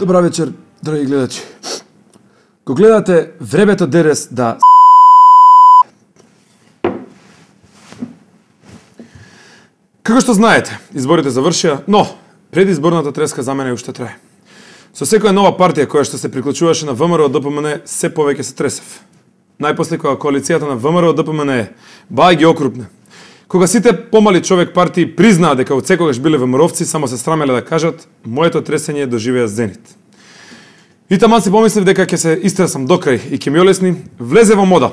Добра вечер, драги гледачи. Го гледате Времето ДРС да Како што знаете, изборите завршија, но предизборната треска за мене уште трае. Со секоја нова партија која што се приклучуваше на ВМРО ДПМН, се повеќе се тресев. Најпосле кога коалицијата на ВМРО ДПМН бај ги окрупне. Кога сите помали човек партии признаа дека од секогаш биле ВМРО-вци, само се срамеле да кажат, моето тресење доживеа зенит. И таман си помислив дека ќе се истресам докрај и ќе ми олесни, влезе во мода.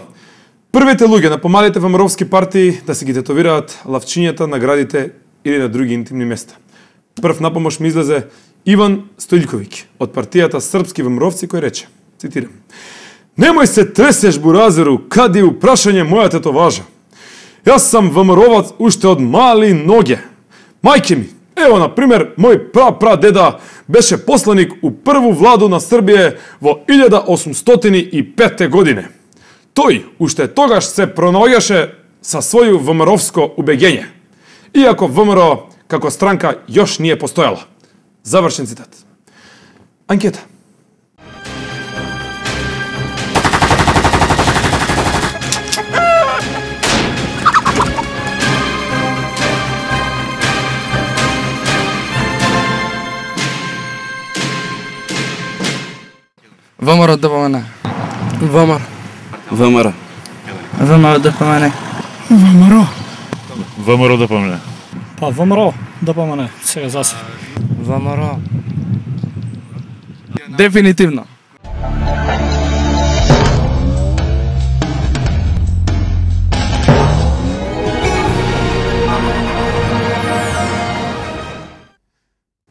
Првите луѓе на помалите ВМРО-вски партии да си ги тетовираат лавчињата на градите или на други интимни места. Прв на помош ми излезе Иван Стојлковиќ од партијата Српски ВМРО-вци кој рече, цитирам: "Немој се тресеш, буразеру, кади упрашање моја тетоважа. Јас сам ВМРО-вац уште од мали ноге. Мајке ми, ево, на пример, мој прадеда беше посланик у прву владу на Србија во 1805 године. Тој уште тогаш се пронаоѓаше со своју ВМРО-вско убегење, иако ВМРО како странка још не постојала." Завршен цитат. Анкета. ВМРО ДПМН. ВМРО. ВМРО. ВМРО ДПМН. ВМРО. ВМРО ДПМН. Па ВМРО ДПМН, сега засе. ВМРО. Дефинитивно.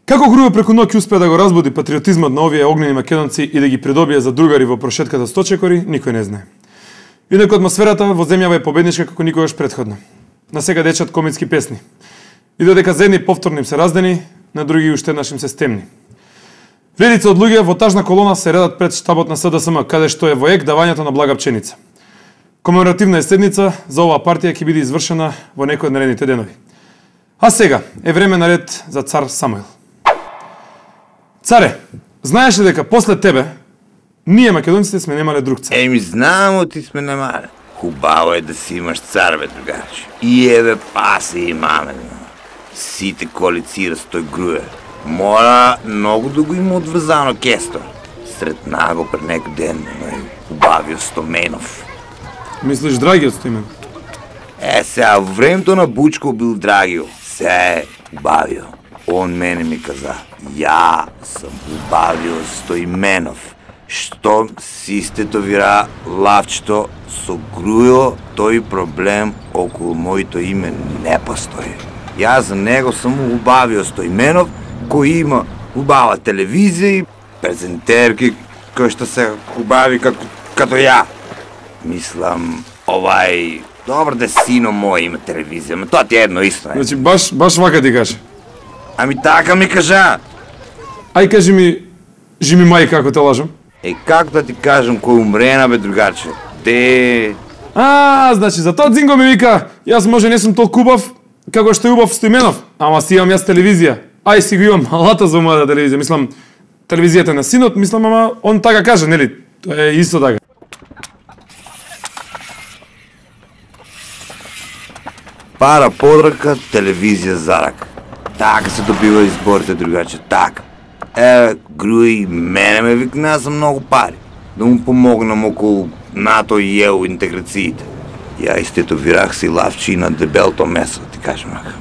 Како Грујо преку ноќ успеа да го разбуди патриотизмот на овие огнени македонци и да ги придобие за другари во прошетката Сточекори, никој не знае. Инаку атмосферата во земјава е победничка како никогаш претходно. На сега дечат комицки песни. И додека за едни повторно им се раздени, на други уште еднаш им се стемни. Редица од луѓе во тажна колона се редат пред штабот на СДСМ, каде што е во ек давањето на блага пченица. Комеморативна е седница за оваа партија ќе биде извршена во некој од наредните денови. А сега е време на ред за цар Самуил. Царе, знаеш ли дека после тебе ние македонците сме немале друг цар? Еми, знамо ти сме немале. Хубаво е да си имаш цар, бе, другарче. И еве пасе имаме. Сите коалицира с тој Груе. Мора многу да го има одврзано кесто. Сретна го пред некој ден, хубавио Стоменов. Мислиш Драгиот Стоименов? Сега, во времето на Бучко бил Драгио. Сега е хубавио. Он мене ми каза: "Ја сам убавио Стоименов. Што си стетовира лавчето со Грујо, тој проблем околу моето име не постои. Јас за него сам убавио Стоименов, кој има убава телевизија и презентерки кои што се убави като ја. Мислам, добро да сино мој има телевизија, но тоа ти е едно исто, Значи баш вака ти каже. Ами така ми кажа. Ај кажи ми, жими мај како те лажам. Како да ти кажам кој умрена, бе, другарче? Значи за тоа Дзинго ми вика, јас може не сум толку убав како што е убав Стоименов, ама си имам јас телевизија. Ај си го имам алата за мојата телевизија, мислам телевизијата на синот, мислам, ама он така каже, нели? Тоа е исто така. Пара под рака, телевизија за рака. Така се добива изборите, другаче, така. Груи, мене ме викна за многу пари. Да му помогнам околу НАТО и ЕУ интеграциите. Ја истетовирах си лавчи на дебелто месо, ти кажем ака.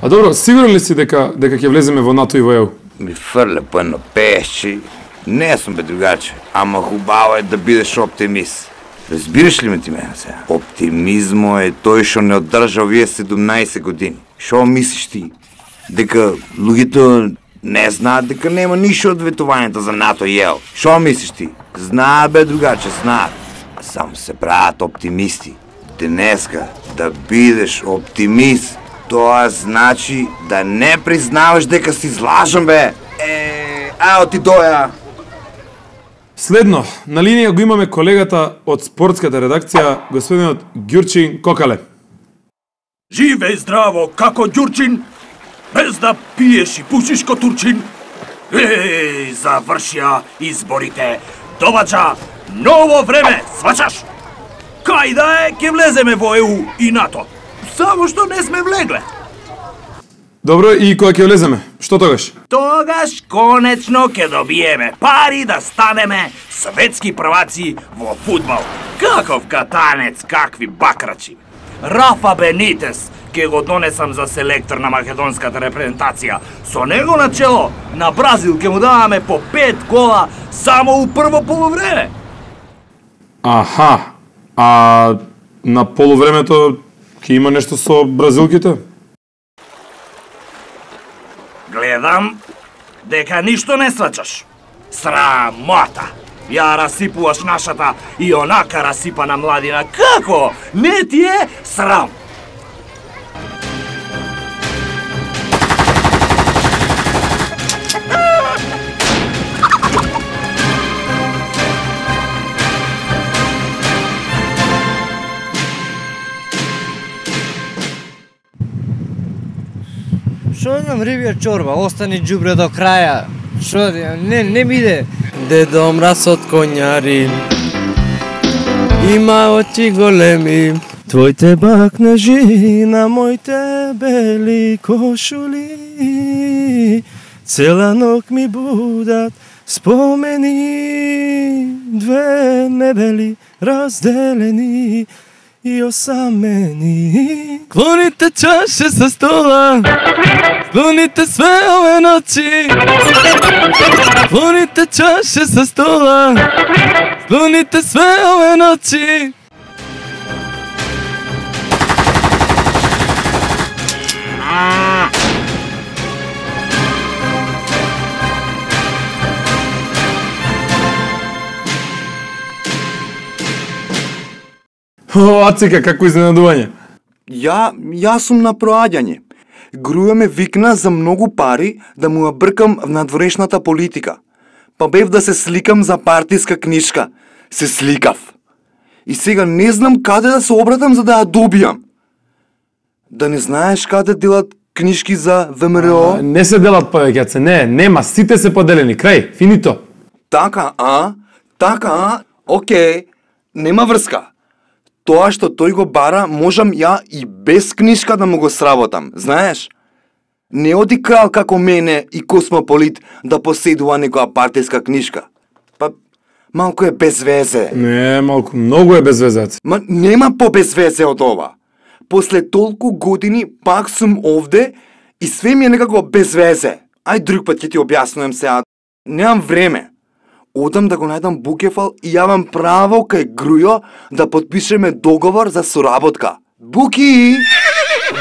А добро, сигурен ли си дека ќе влеземе во НАТО и во ЕУ? Ми фрле по едно пешче. Не сум, бе, другаче, ама хубаво е да бидеш оптимист. Разбираш ли ме ти мене сега? Оптимизмо е тој што не одржа овие 17 години. Шо мислиш ти? Дека луѓето не знаат дека нема ништо од ветувањето за НАТО и ЕУ. Шо мислиш ти? Знаат, бе, другаче, знаат. Само се прават оптимисти. Денеска да бидеш оптимист, тоа значи да не признаваш дека си злажен, бе. Ао ти доја. Следно, на линија го имаме колегата од спортската редакција, господинот Ѓурчин Кокале. Живе здраво како Ѓурчин, без да пиеш и пушиш ко Турчин. Завршија изборите. Доваѓа ново време, сваќаш? Кај да е, ќе влеземе во ЕУ и НАТО. Само што не сме влегле. Добро, и кога ќе влеземе? Што тогаш? Тогаш конечно ќе добиеме пари да станеме светски прваци во фудбал. Каков катанец, какви бакрачи. Рафа Бенитес ќе го донесам за селектор на македонската репрезентација. Со него на чело на Бразил ќе му даваме по 5 гола само у прво полувреме. Аха, а на полувремето ќе има нешто со бразилките? Гледам дека ништо не сваќаш. Срамота! Ја расипуваш нашата и онака расипана младина. Како? Не ти е срам? Шо знам, рибја чорба, остани џубре до краја. Шо, не ми иде. Дедо мраз од конјари има очи големи. Твоите бакнежи на моите бели кошули цела ног ми будат спомени. Две мебели разделени и осамени. Клоните чаше со стола, клоните све ове ноќи. Клоните чаше со стола, клоните све ове ноќи. О, Ацика, како изненадување. Јас сум на проаѓање. Груја ме викна за многу пари да му ја бркам в надворешната политика. Па бев да се сликам за партиска книжка. Се сликав. И сега не знам каде да се обратам за да ја добијам. Да не знаеш каде делат книжки за ВМРО? Не се делат повеќе, нема, сите се поделени, крај, финито. Така, окей, нема врска. Тоа што тој го бара, можам ја и без книжка да му го сработам, знаеш? Не оди крал како мене и космополит да поседува некоја партиска книжка. Па, малку е без везе. Не, малку, многу е без везе. Ма нема по без везе од ова. После толку години пак сум овде и све ми е некако без везе. Ај друг пат ќе ти објаснувам сега. Немам време. Одам да го најдам Букефал и јавам право кај Грујо да потпишеме договор за соработка. Буки!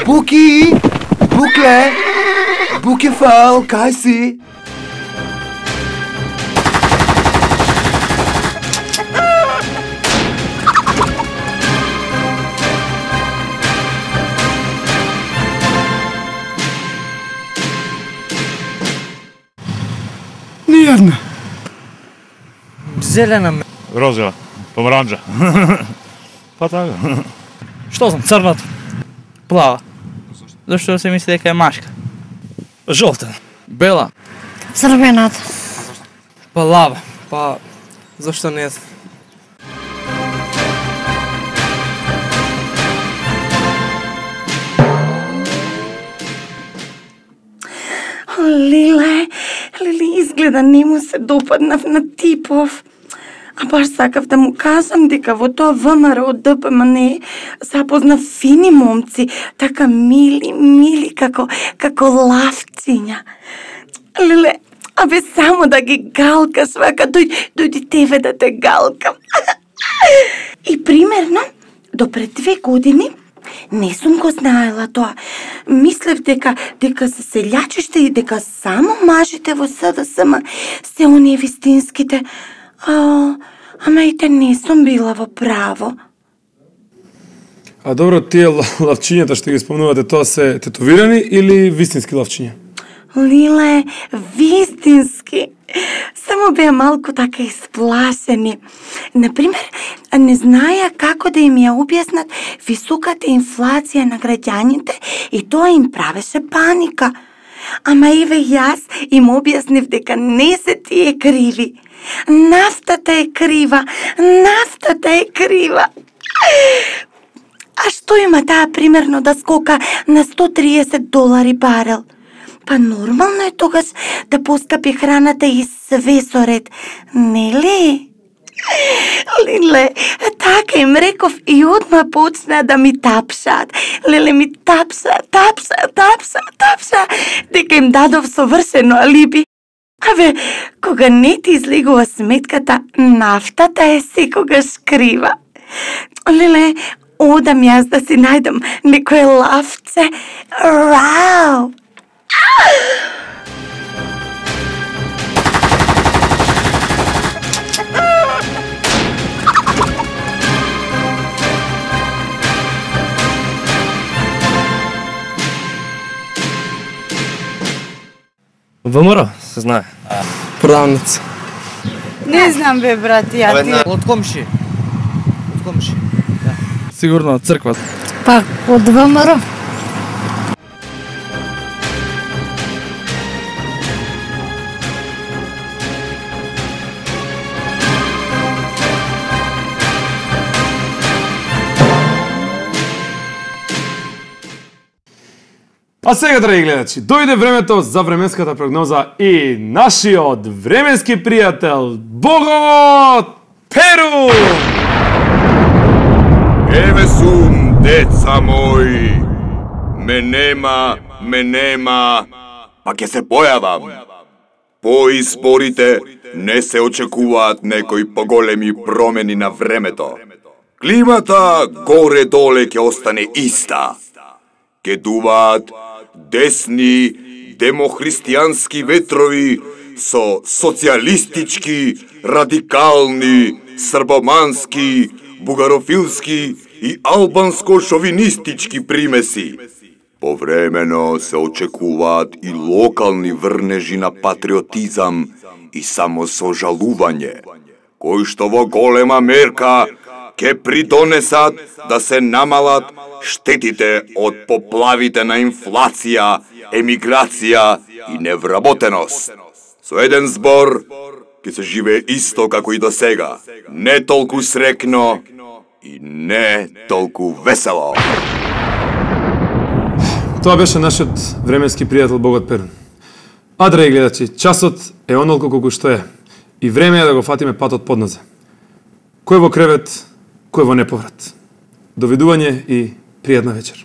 Букле! Букефал, кај си? Ниједна. Зелена ме. Розова, помаранџа. Па така. Што знам, црната? Плава. Зашто се мисли дека е машка? Жолтена. Бела. Црвената. Па лава. Па зашто не знам? Лиле, изгледа не му се допаднав на Типов. А баш сакав да му кажам дека во тоа ВМРО од ДПМН запознав фини момци, така мили како лавциња. Лиле, абе само да ги галкаш, вака дојди тебе да те галкам. И примерно, до пред 2 години не сум го знаела тоа. Мислев дека се селјачиште и дека само мажите во СДСМ се оние вистинските. Ама и те не сум била во право. А добро, тие лавчињата што ги спомнувате, тоа се тетовирани или вистински лавчиња? Лиле, вистински. Само беа малку така исплашени. Например, не знаеа како да им ја објаснат високата инфлација на граѓаните и тоа им правеше паника. Ама еве јас им објаснив дека не се тие криви. Нафтата е крива, нафтата е крива. А што има таа примерно да скока на $130 барел? Па нормално е тогаш да поскапи храната и све со ред, нели? Леле, така им реков и одма почна да ми тапшаат. Леле ми тапша, дека им дадов совршено алиби. Абе, кога не ти излегува сметката, нафтата е секогаш крива. Леле, одам јас да си најдам некое лавче. Рау! ВМРО, се знае. Продавница. Не знам бе, брат, ја ти. Од комши. Од комши. Сигурно од црквата. Пак од ВМРО. А сега, драги гледачи, дојде времето за временската прогноза и нашиот временски пријател Бого Перу! Еве сум, деца мои, ме нема, па ќе се појавам. По изборите не се очекуваат некои поголеми промени на времето. Климата горе-доле ќе остане иста. Ке дуваат десни, демохристијански ветрови со социјалистички, радикални, србомански, бугарофилски и албанско-шовинистички примеси. Повремено се очекуваат и локални врнежи на патриотизам и самосожалување, кои што во голема мерка ке придонесат да се намалат штетите од поплавите на инфлација, емиграција и невработеност. Со еден збор, ке се живее исто како и до сега. Не толку срекно и не толку весело. Тоа беше нашиот временски пријател Богот Перун. А, драги гледачи, часот е онолку колку што е и време е да го фатиме патот подназад. Кој во кревет, кој во неповрат. Довидување и пријатна вечер.